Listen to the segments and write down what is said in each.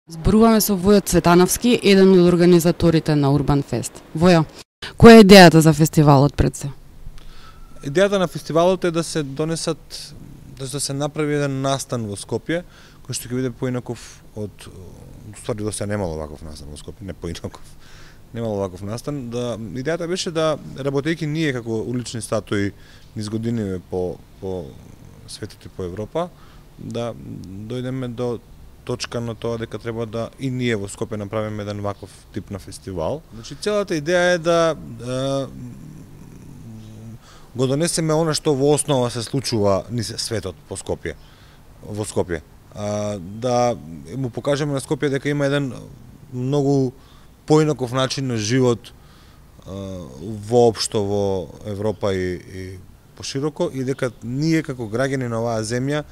Зборуваме со Војо Цветановски, еден од организаторите на Урбан Фест. Војо, која е идејата за фестивалот пред се? Идејата на фестивалот е да се донесат, да се направи еден настан во Скопје, кој што ќе биде поинаков од, ствари до се немало ваков настан во Скопје, не поинаков. Немало ваков настан. Идејата беше да, работејќи ние како улични статуи низ години по светот и по Европа, да дојдеме до точка на тоа дека треба да и ние во Скопје направиме еден ваков тип на фестивал. Значи целата идеја е да го донесеме она што во основа се случува низ светот по Скопје, во Скопје. Да му покажеме на Скопје дека има еден многу поинаков начин на живот воопшто во Европа и пошироко, и дека ние како граѓани на оваа земја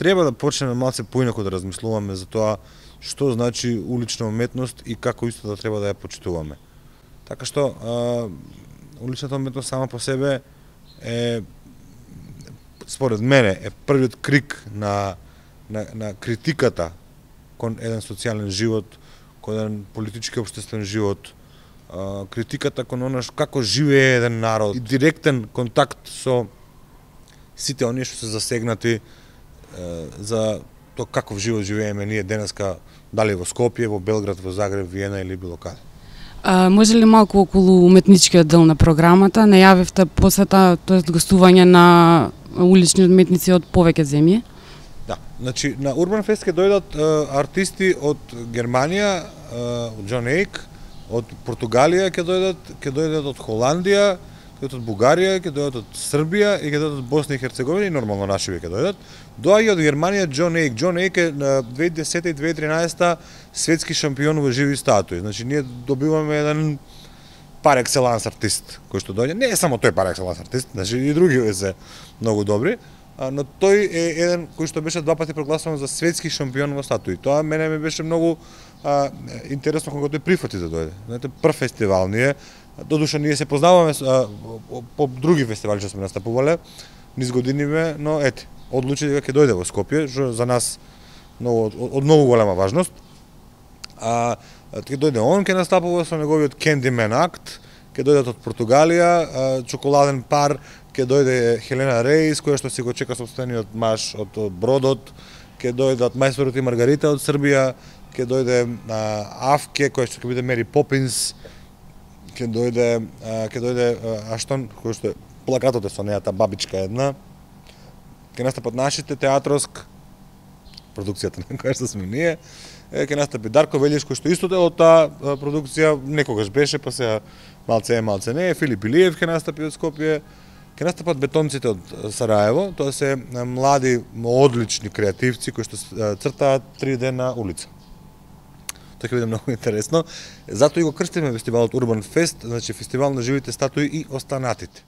треба да почнеме малце поинако да размислуваме за тоа што значи улична уметност и како исто да треба да ја почитуваме. Така што уличната уметност сама по себе е, според мене, е првиот крик на критиката кон еден социјален живот, кон еден политички општествен живот, критиката кон она како живее еден народ и директен контакт со сите оние што се засегнати за тоа каков живот живееме ние денеска, дали во Скопје, во Белград, во Загреб, Виена или било каде. Може ли малку околу уметничкиот дел на програмата? Најавивте посета, тоест гостување на улични уметници од повеќе земји? Да, значи на Урбан Фест ќе дојдат артисти од Германија, од Џон Ејк, од Португалија ќе дојдат од Холандија, ќе дојдат од Бугарија, ќе дојдат од Србија и ќе дојдат од Босна и Херцеговина и нормално нашиве ќе дојдат. Доаѓа од Германија Џон Ејк. Џон Ејк е на 2010 и 2013 светски шампион во живи статуи. Значи ние добиваме еден пар екселанс артист кој што доаѓа. Не е само тој пар екселанс артист, значи и други се многу добри, но тој е еден кој што беше два пати прогласуван за светски шампион во статуи. Тоа мене ми беше многу интересно кога тој прифати да дојде. Знаете, прв фестивал ние. Додуша ние се познаваме по други фестивали што сме настапувале низ годиниве, но ете, одлучи дека ќе дојде во Скопје, што за нас од многу голема важност. Ќе дојде он, ќе настапува со неговиот Candyman акт, ќе дојдат од Португалија, чоколаден пар, ќе дојде Хелена Реис, која што си го чека сопствениот маж од Бродот, ќе дојдат Мајсторот и Маргарита од Србија, ќе дојде Авке, која што ќе биде Мери Попинс, ќе дојде Аштон, кој што е плакатот е со неа, та бабичка една. Ќе настапат нашите Театроск, продукцијата на која што сме ние. Ќе настапи Дарко Велиш, кој што исто е од таа продукција, некогаш беше, па сега малце е, малце не е. Филип Илиев ќе настапи од Скопје. Ќе настапат Бетонците од Сараево, тоа се млади, одлични креативци кои што цртаат 3D на улица. Тоа ќе биде многу интересно. Затоа и го крстиме фестивалот Урбан Фест, значи фестивал на живите статуи и останатите.